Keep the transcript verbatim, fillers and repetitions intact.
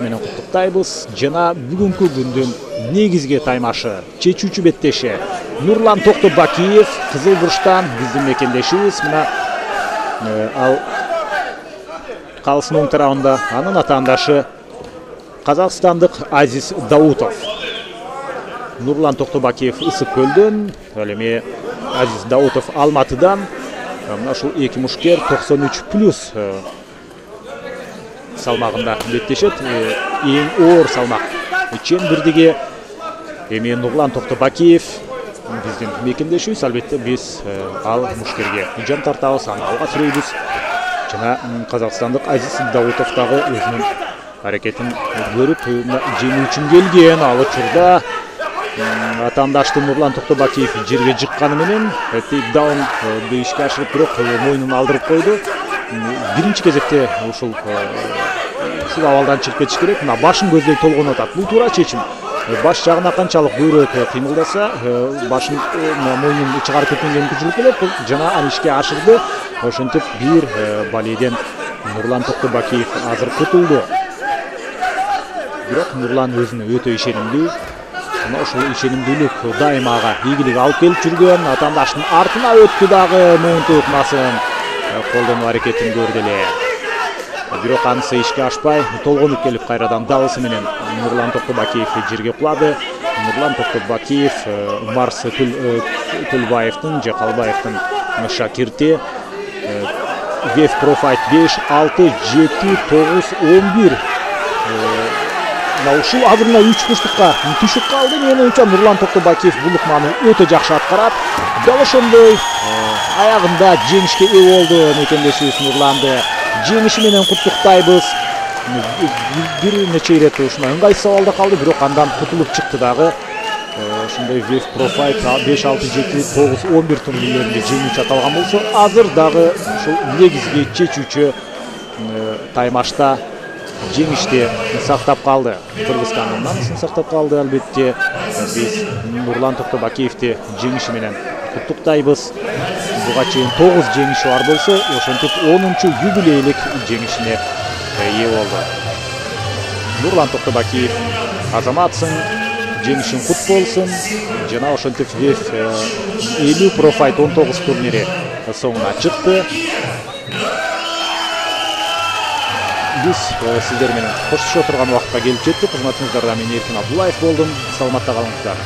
менен куттуктайбыз. Жана бүгүнкү күндүн негизги таймашы, чечүүчү беттеши Нурлан Токтобакиев Кызыл бурчтан биздин мекендешибиз. Мына ал калыстын оң тарабында анын атаандашы казакстандык Азиз Даутов. Нурлан Токтобакиев Ысык көлдөн, ал эми Азиз Даутов Алматыдан. Мына ушул эки мушкер токсон үч плюс салмагында беттешет. Эң оор салмак чен бирдиги эми Нурлан Токтобакиев биздин мекендешибиз. Албетте биз ал мушкерге жан тартабыз, аны алга сүрөйбүз. Жана казакстандык Азиз Даутов дагы өзүнүн аракетин көрүп жеңүү үчүн келген. Ал учурда атаандаштуу Нурлан Токтобакиев жерге жыкканы менен тейкдаун ишке ашырып, бирок мойнун алдырып койду. Биринчи кезекте ушул ушул абалдан чыгып кетиш керек. Мына башын көздөй толгонуп атат. Бул туура чечим. Баш жагына канчалык көбүрөөк кыймылдаса, башын мойнун чыгарып кеткенге мүмкүнчүлүк болот. Жана аны ишке ашырды. Ошентип бир балейден Нурлан Токтобакиев азыр кутулду. Бирок Нурлан өзүнө өтө ишенимдүү. Мына ушул ишенимдүүлүк дайыма ага ийгилик алып келип жүргөн. Атаандаштын артына өттү дагы моунту ыкмасын колдонуу аракетин көрдү эле. Бирок анысы ишке ашпай, толгонуп келип кайрадан дабысы менен Нурлан Токтобакиев жерге кулады. Нурлан Токтобакиев Марс Төлбаевдин же Калбаевдин шакирти. Веф Профайт беш, алты, жети, тогуз, он бир. Мына ушул азыр мына үч бурчтукка түшүп калды. Менин оюмча Нурлан Токтобакиев бул ыкманы өтө жакшы аткарат. Дал ошондой аягында жеңишке ээ болду мекендешибиз Нурланды. Жеңиши менен куттуктайбыз. Бир нече ирет ушундай ыңгайсыз абалда калды, бирок андан кутулуп чыкты дагы. Ошондой Веф Профайт беш, алты, жети, тогуз, он бир турнирлеринде жеңүүчү аталган болсо, азыр дагы ушул негизги чечүүчү таймашта жеңишти сактап калды. Кыргызстандын намысын сактап калды. Албетте биз Нурлан Токтобакиевди жеңиши менен куттуктайбыз. Буга чейин тогуз жеңиши бар болсо, ошентип онунчу юбилейлик жеңишине ээ болду. Нурлан Токтобакиев азаматсың, жеңишиң кут болсун. Жана ошентип Веф элүү Профайт он тогуз турнири соңуна чыкты. Биз сиздер менен коштошо турган убакытка келип жеттик. Кызматыңыздарда мен Эркин Абдуллаев болдум. Саламатта калыңыздар.